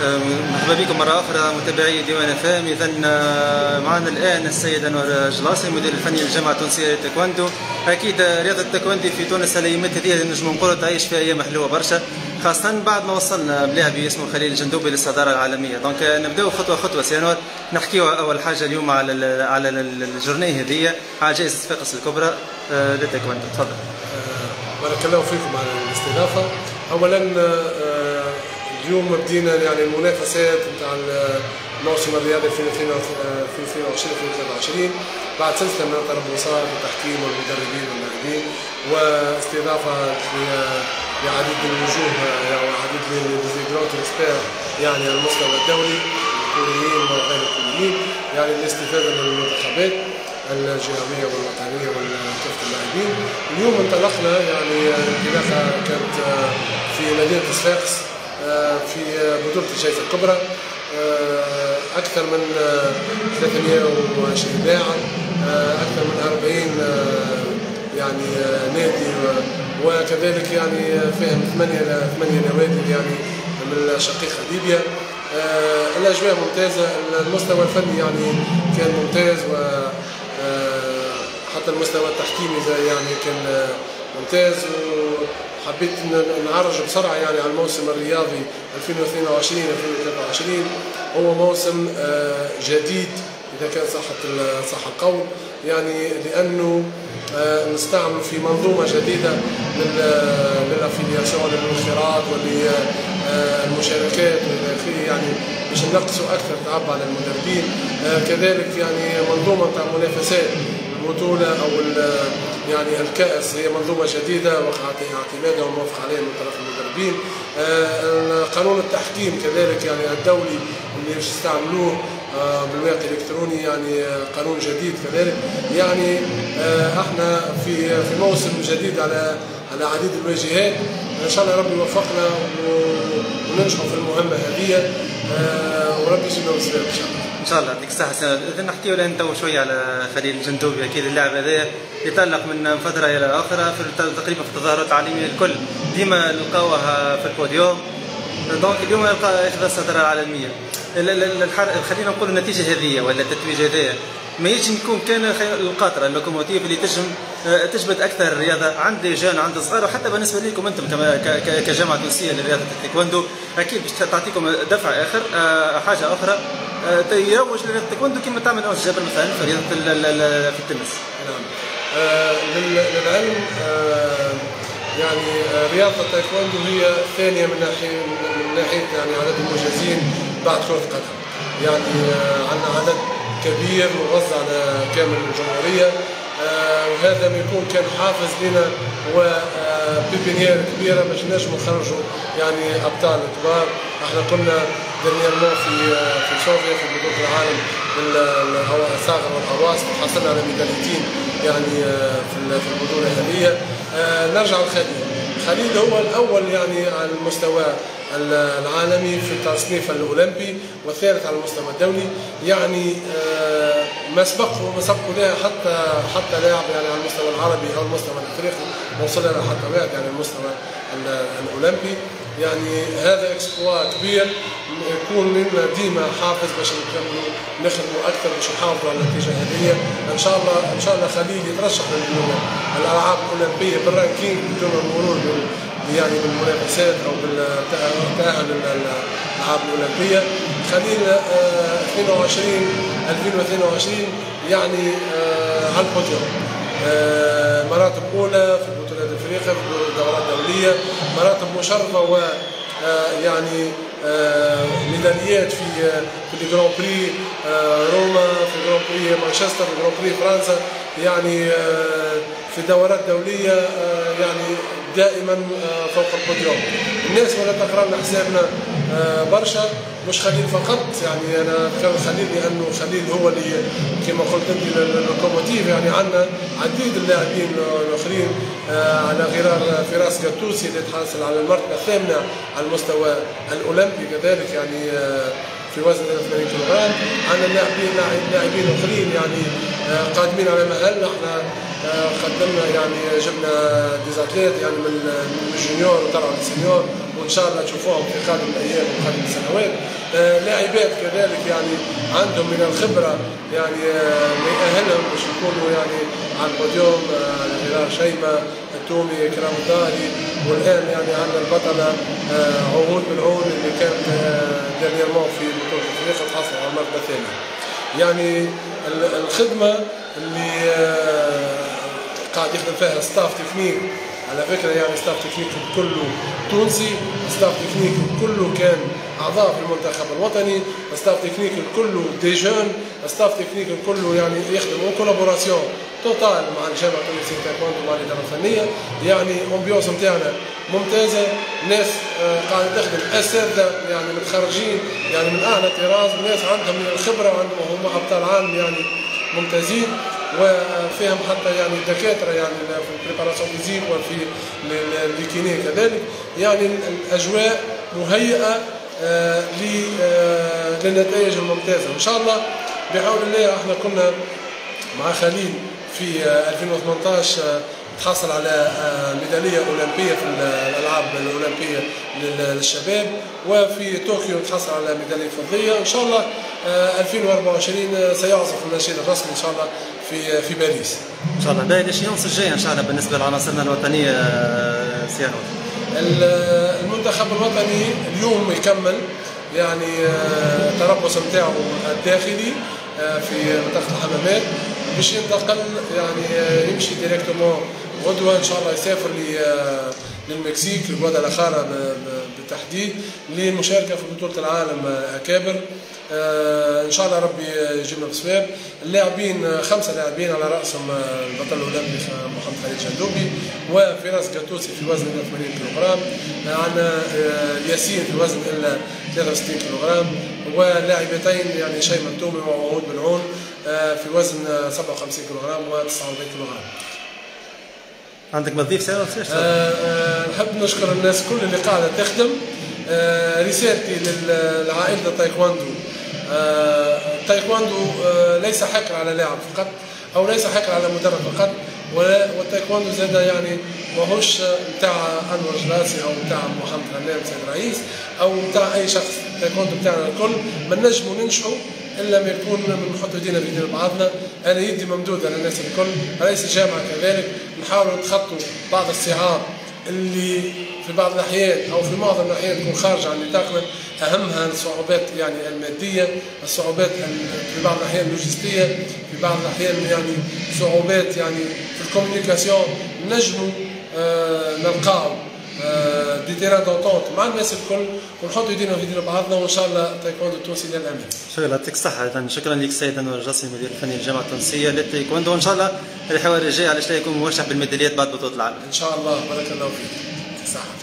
مرحبا بكم مرة أخرى متابعي ديوان اف ام. إذا معنا الآن السيد أنور جلاصي، المدير الفني للجامعة التونسية للتايكوندو. أكيد رياضة التايكوندو في تونس الأيامات هذه نجم نقولوا تعيش في أيام حلوة برشا، خاصة بعد ما وصلنا بلاعب اسمه خليل الجندوبي للصدارة العالمية. donc نبداو خطوة خطوة سي أنور، نحكيو أول حاجة اليوم على ال journée هذه، على جائزة صفاقس الكبرى للتايكوندو. تفضل. بارك الله فيكم على الاستضافة. أولا اليوم بدينا يعني المنافسات نتاع الموسم الرياضي 2022 2023 بعد سلسلة من التربصات والتحكيم والمدربين واللاعبين، واستضافه لعديد من الوجوه يعني عديد les grands experts يعني على المستوى الدولي، الكوريين وغير الكوريين، يعني الاستفادة من المنتخبات الجهوية والوطنيه وكافة اللاعبين. اليوم انطلقنا يعني انطلاقة كانت في مدينة صفاقس في بطولة الجائزة الكبرى، أكثر من 320 لاعب، أكثر من 40 يعني نادي، وكذلك يعني فيهم 8 نوادي يعني من الشقيقة ليبيا. الأجواء ممتازة، المستوى الفني يعني كان ممتاز، وحتى المستوى التحكيمي يعني كان ممتاز. حبيت نعرج بسرعة يعني على الموسم الرياضي 2022 2023. هو موسم جديد إذا كان صح القول، يعني لأنه نستعمل في منظومة جديدة لل affiliation، للانخراط وللمشاركات والى اخره، يعني باش نقصوا أكثر تعب على المدربين. كذلك يعني منظومة تاع منافسات البطولة أو يعني الكأس هي منظومة جديدة وقع اعتمادها وموافق عليها من طرف المدربين. قانون التحكيم كذلك يعني الدولي اللي باش يستعملوه بالواقع الإلكتروني، يعني قانون جديد كذلك. يعني احنا في موسم جديد على عديد الواجهات. ان شاء الله ربي يوفقنا وننجحوا في المهمة هذه، وربي يجيبنا بالسلامة ان شاء الله. ان شاء الله يعطيك الصحة. إذا نحكيو الآن تو شوية على خليل الجندوبي، أكيد اللاعب هذا يتألق من فترة إلى أخرى في تقريبا في التظاهرات العالمية الكل ديما نلقاوه في ال podium. donc اليوم ياخذ الصدارة العالمية. خلينا نقول النتيجة هذه ولا التتويج هذايا ما يجي يكون كان القاطرة ال locomotive اللي تجم تجبد أكثر الرياضة عند les jeunes، عند الصغار، وحتى بالنسبة لكم أنتم كجامعة تونسية لرياضة التايكوندو، أكيد باش تعطيكم دفع آخر، حاجة أخرى يروج لرياضة التايكوندو كما تعمل أنس جابر مثلا في رياضة في التنس. نعم. للعلم يعني رياضة التايكوندو هي الثانية من ناحية يعني عدد المجازين بعد كرة القدم. يعني عندنا عدد كبير موزع على كامل الجمهورية، وهذا ما يكون كان حافز لنا و pépinière كبيرة باش نجموا نخرجوا يعني أبطال كبار. احنا كنا dernièrement في صوفيا في بطولة العالم الصاغر والأواسط، حصلنا على ميداليتين يعني في البطولة هذه. نرجع لخليل. خليل هو الأول يعني على المستوى العالمي في التصنيف الأولمبي، والثالث على المستوى الدولي. يعني ما سبقوا لها حتى لاعب يعني على المستوى العربي أو المستوى الأفريقي، ما وصل لها حتى واحد يعني المستوى الأولمبي. يعني هذا exploit كبير يكون لنا ديما حافز باش نكملوا نخدموا اكثر باش نحافظوا على النتيجة هذه. ان شاء الله ان شاء الله خليل يترشح للالعاب الاولمبية بال ranking بدون المرور يعني بالمنافسات او بالتاهل للالعاب الاولمبية. خليل 2022 يعني على البوديوم، مراتب اولى في بطولات افريقيا، في الدورات الدولية، مراتب مشرفة و يعني ميداليات في ال Grand Prix روما، في Grand Prix مانشستر، في Grand Prix فرنسا، يعني في دورات دولية يعني دائما فوق البوديوم. الناس ولا تقرا لنا حسابنا برشا، مش خليل فقط، يعني انا ذكرت خليل لانه خليل هو اللي كما قلت انت ال locomotive. يعني عندنا عديد اللاعبين الاخرين على غرار فراس قطوسي اللي تحصل على المرتبة الثامنة على المستوى الاولمبي كذلك، يعني في وزن 83 كيلوغرام. عندنا لاعبين اخرين يعني قادمين على مهل. احنا قدمنا يعني جبنا des athlètes يعني من ال junior وطلعوا لل senior، وان شاء الله تشوفوهم في قادم الايام وقادم السنوات. لاعبات كذلك يعني عندهم من الخبرة يعني ما يأهلهم باش يكونوا يعني على البوديوم، غير شيماء التومي، كرام الداري، والان يعني عندنا البطلة عهود بالعون اللي كانت dernièrement في بطوله افريقيا تحصل على المرتبة الثانية. يعني الخدمة اللي قاعد يخدم فيها staff technique، على فكرة يعني staff technique كله تونسي، staff technique كله كان اعضاء في المنتخب الوطني، staff technique كله des jeunes، staff technique كله يعني يخدم en collaboration totale مع الجامعة التونسية تايكوندو ومع الادارة الفنية. يعني ambiance نتاعنا ممتازة، ناس قاعدة تخدم، اساتذة يعني متخرجين يعني من اعلى طراز، ناس عندهم من الخبرة وعندهم هم ابطال عالم يعني ممتازين، وفيهم حتى يعني دكاترة يعني في ال préparation physique وفي les kinés كذلك. يعني الاجواء مهيئة للنتائج الممتازة ان شاء الله بحول الله. احنا كنا مع خليل في 2018 تحصل على ميدالية اولمبيه في الالعاب الاولمبية للشباب، وفي طوكيو تحصل على ميدالية فضية. ان شاء الله 2024 سيعزف النشيد الرسمي ان شاء الله في باريس. ان شاء الله. باهي ال échéances الجاية ان شاء الله بالنسبة لعناصرنا الوطنية سي انور؟ المنتخب الوطني اليوم يكمل يعني التربص نتاعو الداخلي في منطقة الحمامات، باش ينتقل يعني يمشي directement غدوه ان شاء الله، يسافر للمكسيك، لغوادالاخارا بالتحديد، للمشاركة في بطوله العالم اكابر. ان شاء الله ربي يجيبنا بصواب. اللاعبين 5 لاعبين على راسهم البطل الاولمبي محمد خليل جندوبي، وفراس قطوسي في وزن 80 كيلوغرام، عندنا ياسين في وزن 63 كيلوغرام، ولاعبتين يعني شيماء التومي وعهود بالعون في وزن 57 كيلوغرام و49 كيلوغرام. عندك ما تضيف سي؟ نحب نشكر الناس كل اللي قاعدة تخدم. رسالتي لعائلة التايكواندو، التايكواندو ليس حكر على لاعب فقط او ليس حكر على مدرب فقط، والتايكواندو زاد يعني ماهوش نتاع انور جلاسي او نتاع محمد غنام سيد الرئيس او نتاع اي شخص. التايكواندو نتاعنا الكل، ما نجموا ننجحوا الا ما يكون نحطوا يدينا في يدين بعضنا. انا يدي ممدوده للناس الكل، رئيس الجامعة كذلك، نحاولوا نتخطوا بعض الصعاب اللي في بعض الاحيان او في معظم الاحيان تكون خارجه عن نطاقنا، اهمها الصعوبات يعني المادية، الصعوبات في بعض الاحيان اللوجستية، في بعض الاحيان يعني صعوبات يعني في ال communication. نجموا نلقاو des terrains d'entente مع الناس الكل ونحطوا يدينا في يدينا بعضنا، وان شاء الله التايكوندو التونسي للامام. شكرا، يعطيك الصحة. شكرا لك السيد انور الجاسمي المدير الفني للجامعة التونسية للتايكوندو، وان شاء الله الحوار الجاي علاش لا يكون موشح بالميداليات بعد بطولة العالم. ان شاء الله، بارك الله فيك. صحة.